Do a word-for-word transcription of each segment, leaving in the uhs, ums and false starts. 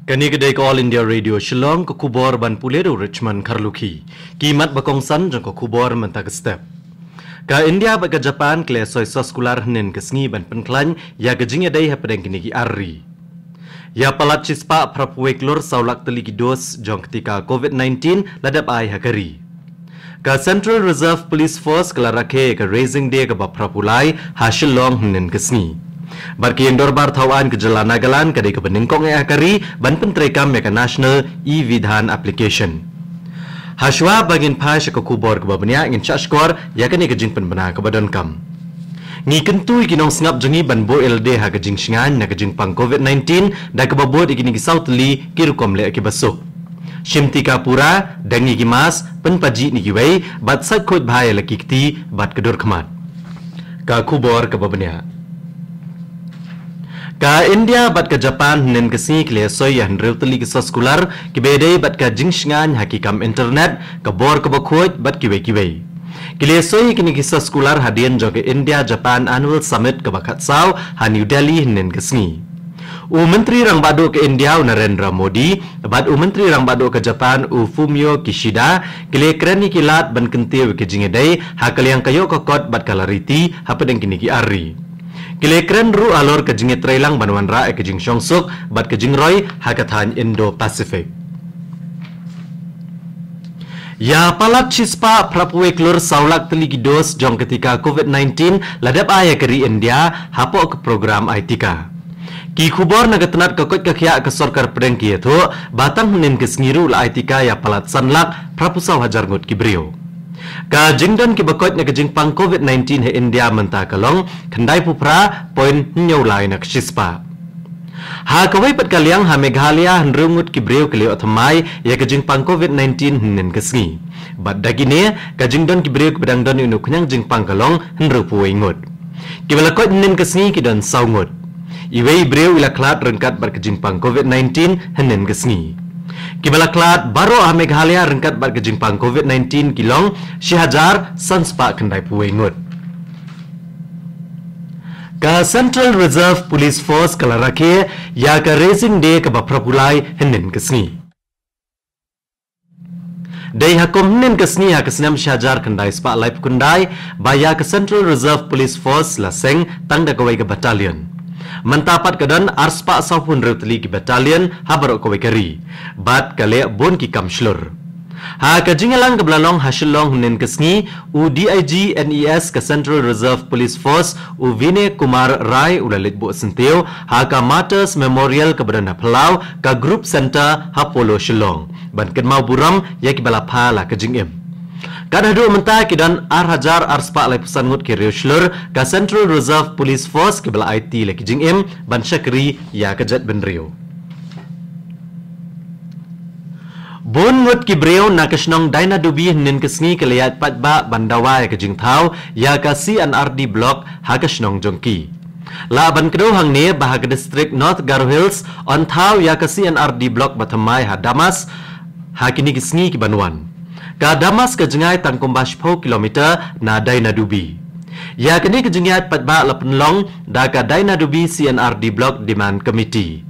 Kane ka dei ka All India Radio Shillong, ka khubor ban pule da u Richmond Kharlukhi. Ki mat ba kongsan jong ka khubor mynta ka step. Ka India bad ka Japan ki la soi soskular hynnin ka sngi ban pynkhlaiñ ïa ka jingïadei hapdeng kine ki ar ri. Ïa palat shispah phraphew wei klur saw lak tylli ki dos jong ka tika covid nineteen la dep ai ha ka ri. Ka Central Reserve Police Force ka la rakhe ka Raising Day kaba phraphew lai ha Shillong hynnin ka sngi. Bad ka ïing dorbar thaw aiñ ka jylla Nagaland ka dei kaba nyngkong eh ha ka ri ban pyntreikam ïa ka National e-Vidhan Application. Hashwa ba ngin phai sha ka khubor kaba bniah, ngin shah shkor ïa kane ka jingpynbna kaba donkam. Ngi kyntu ïa ki nongsngap jong ngi ban buh ïalade ha ka jingshngaiñ na ka jingpang covid nineteen da kaba bud ïa kine ki saw tylli ki rukom leh kiba suk. Shim tika pura, deng ïa ki mask, pynpaji ïa kiwei, bad sait khuid bha ïa la ki kti bad ka dur khmat. Ka khubor kaba bniah. Ka India bad ka Japan hynnin ka sngi ki la soi ïa hynriew tylli ki soskular kiba ïadei bad ka jingshngaiñ ha ki kam internet, ka bor kaba khuid bad kiwei kiwei. Ki la soi ïa kine ki soskular hadien jong ka India Japan Annual Summit kaba khatsaw ha New Delhi hynnin ka sngi. U Myntri Rangbah Duh ka India u Narendra Modi bad u Myntri Rangbah Duh ka Japan u Fumio Kishida ki la kren ïa ki lad ban kyntiew ïa ka jingïadei ha ka liang ka ïoh ka kot bad ka lariti hapdeng kine ki ar ri. Ki la kren ruh halor ka jingïatreilang ban wanrah ïa ka jingshongsuk bad ka jingroi ha ka thaiñ Indo-Pacific. Ïa palat shispah phraphew wei klur saw lak tylli ki dos jong ka tika covid nineteen la dep ai ïa ka ri India hapoh ka program ai tika. Ki khubor na ka tnat ka koit ka khiah ka sorkar pdeng ki ïathuh ba tang hynnin ka sngi ruh la ai tika ïa palat san lak phraphew saw hajar ngut ki briew. Ka jingdon kiba koit na ka jingpang covid nineteen ha India mynta ka long khyndai phew phra point hynñiew lai na ka shispah. Ha kawei pat ka liang ha Meghalaya hynriew ngut ki briew ki la ïoh thymmai ïa ka jingpang covid nineteen hynnin ka sngi. Bad da kine ka jingdon ki briew kiba dang don ïa une u khñiang jingpang ka long hynriew phew wei ngut. Kiba la koit hynnin ka sngi ki don saw ngut. Iwei i briew i la khlad ryngkat bad ka jingpang covid nineteen hynnin ka sngi. Kiba la khlad baroh ha Meghalaya ryngkat bad ka jingpang covid nineteen ki long shi hajar san spah khyndai phew wei ngut. Ka Central Reserve Police Force ka la rakhe ïa ka Raising Day kaba phraphew lai hynnin ka sngi. Dei ha kum hynnin ka sngi ha ka snem shi hajar khyndai spah laiphew khyndai ba ïa ka Central Reserve Police Force la seng tang da kawei ka battalion. Mynta pat ka don ar spah sawphew hynriew tylli ki battalion ha baroh kawei ka ri bad ka leh bun ki kam shlur. Ha ka jingïalang kaba la long ha Shillong hynnin ka sngi, u D I G N E S ka Central Reserve Police Force u Vinay Kumar Rai u la leit buh syntiew ha ka Martyrs Memorial kaba don ha Phyllaw, ka Group Centre ha Polo Shillong, ban kynmaw burom ïa kiba la pha la ka jingim. Kat haduh mynta ki don ar hajar ar spah laiphew san ngut ki riewshlur ka Central Reserve Police Force kiba la aiti la ki jingim ban shakri ïa ka jaitbynriew. Bun ngut ki briew na ka shnong Dainadubi hynnin ka sngi ki la ïaid paidbah ban dawa ïa ka jingthaw ïa ka C and R D Block ha ka shnong jong ki. Lah ban kdew hangne ba ha ka district North Garo Hills yn thaw ïa ka C and R D Block ba thymmai ha Damas ha kine ki sngi ki ban wan. Ka Damas ka jngai tang kumba shiphew kilometer na Dainadubi. Ïa kane ka jingïaid paidbah la pynlong da ka Dainadubi C and R D Block Demand Committee.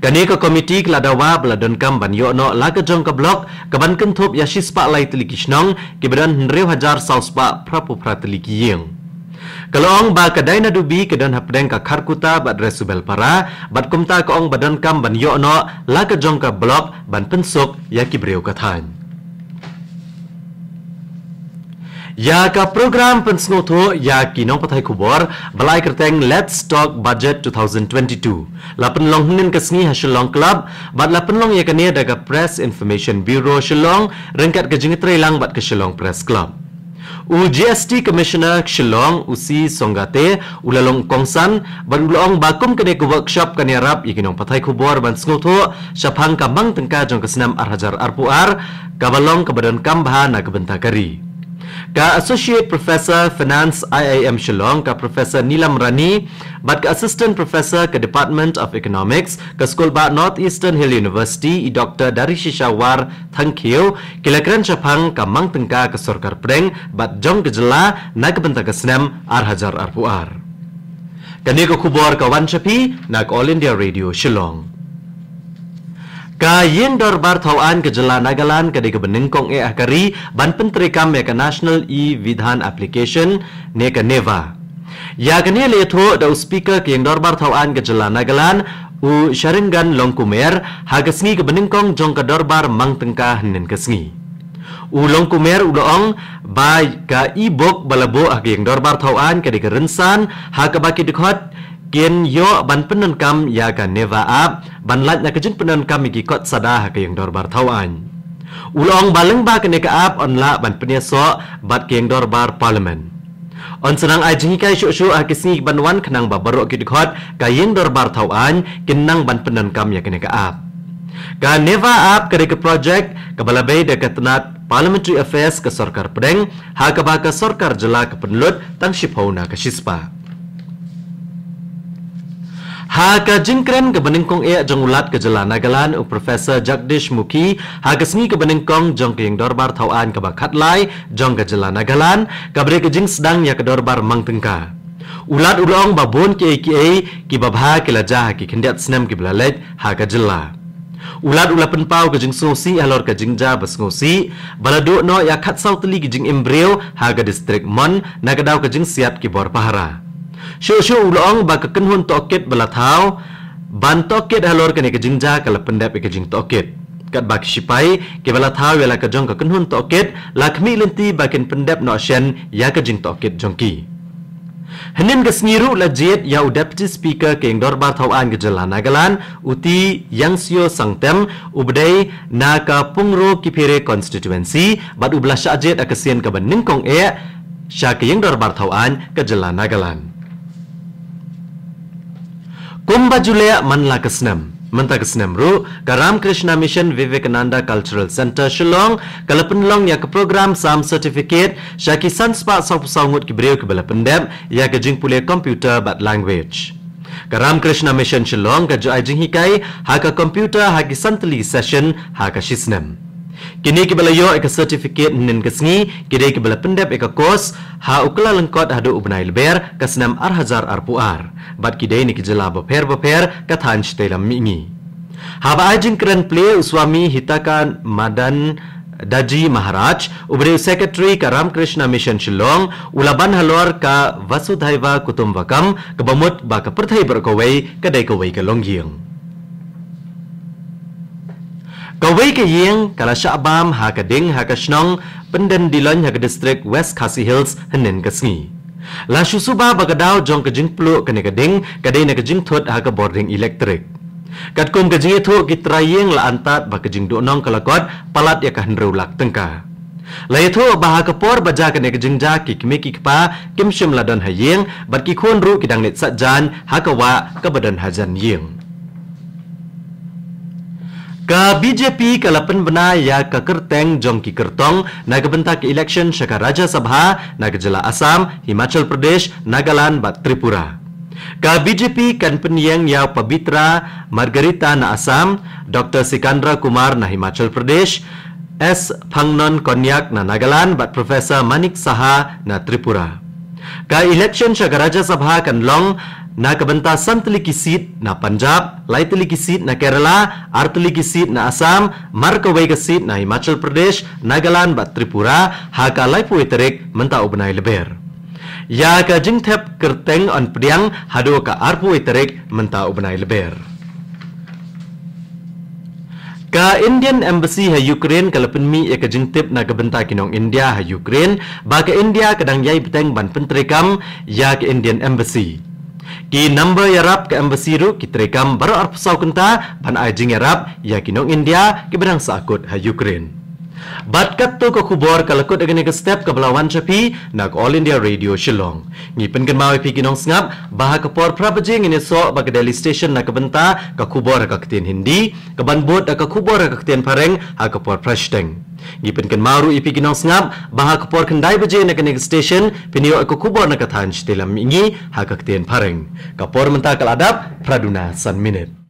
Kane ka komiti ka la dawa ba la donkam ban ïoh noh la ka jong ka block ka ban kynthup ïa shispah lai tylli ki shnong kiba don hynriew hajar saw spah phraphew phra tylli ki ïing. Ka la ong ba ka Dainadubi ka don hapdeng ka Kharkutta bad Resubelpara, bad kumta ka ong ba donkam ban ïoh noh la ka jong ka block ban pynsuk ïa ki briew ka thaiñ. Ïa ka program pynsngewthuh ïa ki nongpathai khubor ba la ai kyrteng Let's Talk Budget two thousand twenty-two la pynlong hynnin ka sngi ha Shillong Club, bad la pynlong ïa kane da ka Press Information Bureau Shillong ryngkat ka jingtreilang bad ka Shillong Press Club. U G S T Commissioner Shillong, u C Songate, u la long kongsan bad u la ong ba kum kane ka workshop kan ïarap ïa ki nongpathai khubor ban sngewthuh shaphang ka mang tyngka jong ka snem ar hajar arphew ar kaba long kaba donkam bha na ka bynta ka ri. Ka Associate Professor Finance I I M Shillong, ka Professor Neelam Rani, bad ka Assistant Professor ka Department of Economics ka Skulbah North Eastern Hill University, i Doctor Darishisha War Thangkhiew, ki la kren shaphang ka mang tyngka ka sorkar pdeng bad jong ka jylla na ka bynta ka snem ar hajar arphew ar. Kane ka khubor ka wan sha phi na ka All India Radio Shillong. Ka Ïing Dorbar Thaw Aiñ ka jylla Nagaland ka dei kaba nyngkong eh ha ka ri ban pyntreikam ïa ka National E-Vidhan Application ne ka NEVA. Ïa kane la ïathuh da u Speaker ka Ïing Dorbar Thaw Aiñ ka jylla Nagaland, u Sharangan Longkumer, ha ka sngi kaba nyngkong jong ka dorbar mang tyngka hynnin ka sngi. U Longkumer u la ong ba ka e-book ba la buh ha ka Ïing Dorbar Thaw Aiñ ka dei ka rynsan ha kaba ki dkhot kin ïoh ban pyndonkam ïa ka NEVA app ban lait na ka jingpyndonkam ïa ki kot sada ha ka Ïing Dorbar Thaw Aiñ. U la ong ba lyngba kane ka app yn lah ban pynïasoh bad ka Ïing Dorbar Parliament. Yn sa nang ai jinghikai shuh shuh ha ki sngi ban wan khnang ba baroh ki dkhot ka Ïing Dorbar Thaw Aiñ kin nang ban pyndonkam ïa kane ka app. Ka NEVA app ka dei ka projek kaba la bei da ka tnat Parliamentary Affairs ka sorkar pdeng, ha kaba ka sorkar jylla ka pynlut tang shiphew na ka shispah. Ha ka jingkren kaba nyngkong eh jong u Lat ka jylla Nagaland, u Professor Jagdish Mukhi, ha ka sngi kaba nyngkong jong ka Ïing Dorbar Thaw Aiñ kaba khatlai jong ka jylla Nagaland, kaba dei ka jingsdang ïa ka dorbar mang tyngka. U Lat u la ong ba bun kiei kiei kiba bha ki la jia ha ki khyndiat snem kiba la leit ha ka jylla. U Lat u la pynpaw ka jingsngewsih halor ka jingjia ba sngewsih ba la duh noh ïa khatsaw tylli ki jingim briew ha ka distrik Mon na ka daw ka jingsiat ki bor pahara. Shuh shuh u la ong ba ka kynhun tohkit ba la thaw ban tohkit halor kane ka jingjia ka la pyndep ïa ka jingtohkit. Katba ki shipai kiba la thaw ïa la ka jong ka kynhun tohkit la khmih lynti ba kin pyndep noh shen ïa ka jingtohkit jong ki. Hynnin ka sngi ruh la jied ïa u Deputy Speaker ka Ïing Dorbar Thaw Aiñ ka jylla Nagaland, u T Yangsio Sangtem, uba dei na ka Pungro Kiphire Constituency, bad uba la shah jied ha ka sien kaba nyngkong eh sha ka Ïing Dorbar Thaw Aiñ ka jylla Nagaland. Kumba ju leh man la ka snem, mynta ka snem ruh, ka Ramakrishna Mission Vivekananda Cultural Centre Shillong ka la pynlong ïa ka program sam certificate sha ki san spah sawphew saw ngut ki briew kiba la pyndep ïa ka jingpule computer bad language. Ka Ramakrishna Mission Shillong ka ju ai jinghikai ha ka computer ha ki san tylli ki session ha ka shisnem. Kine kiba la ïoh ïa ka certificate hynnin ka sngi ki dei kiba la pyndep ïa ka course ha u Kyllalyngkot haduh u bnai Lber ka snem ar hajar arphew ar, bad ki dei na ki jylla bapher bapher ka thaiñ shatei lam mihngi. Haba ai jingkren plie, u Swami Hitaka Madan Daji Maharaj, uba dei u Secretary ka Ramakrishna Mission Shillong, u la ban halor ka Vasudhaiva Kutumbakam kaba mut ba ka pyrthei baroh kawei ka dei kawei ka longïing. Kawei ka ïing ka la shah bam ha ka ding ha ka shnong Pyndendilloin ha ka distrik West Khasi Hills hynnin ka sngi. La shu suba ba ka daw jong ka jingpluh kane ka ding ka dei na ka jingthut ha ka bording elektrik. Katkum ka jingïathuh, ki trai ïing la antad ba ka jingduhnong ka la kot palat ïa ka hynriew lak tyngka. La ïathuh ba ha ka por ba jia kane ka jingjia ki kmie ki kpa kim shym la don ha ïing, bad ki khun ruh ki dang leit saitjaiñ ha ka wah kaba don hajan ïing. Ka B J P ka la pynbna ïa ka kyrteng jong ki kyrtong na ka bynta ka election sha ka Rajya Sabha na ka jylla Assam, Himachal Pradesh, Nagaland bad Tripura. Ka B J P kan pynïeng ïa u Pabitra Margherita na Assam, Doctor Sikandra Kumar na Himachal Pradesh, S Phangnon Konyak na Nagaland bad Professor Manik Saha na Tripura. Ka election sha ka Rajya Sabha kan long na ka bynta san tylli ki seat na Punjab, lai tylli ki seat na Kerala, ar tylli ki seat na Assam, mar kawei ka seat na Himachal Pradesh, Nagaland bad Tripura ha ka laiphew tarik mynta u bnai Lber. Ïa ka jingthep kyrteng yn pdiang haduh ka arphew tarik mynta u bnai Lber. Ka Indian Embassy ha Ukraine ka la pynmih ïa ka jingtip na ka bynta ki nong India ha Ukraine ba ka India ka dang ïai bteng ban pyntreikam ïa ka Indian Embassy. Ki number ïarap ka Embassy ruh ki treikam baroh arphew saw kynta ban ai jingïarap ïa ki nong India kiba dang sahkut ha Ukraine. Bad katto ka khubor ka la kut ha kane ka step kaba la wan sha phi na ka All India Radio Shillong. Ngi pynkynmaw ïa phi ki nongsngap ba ha ka por phra baje ngin ïasoh bad ka Delhi Station na ka bynta ka khubor ha ka ktien Hindi, kaban bud da ka khubor ha ka ktien Phareng ha ka por phra shiteng. Ngi pynkynmaw ruh ïa phi ki nongsngap ba ha ka por khyndai baje na kane ka station phin ïoh ïa ka khubor na ka thaiñ shatei lam mihngi ha ka ktien Phareng. Ka por mynta ka la dap phra duna san minit.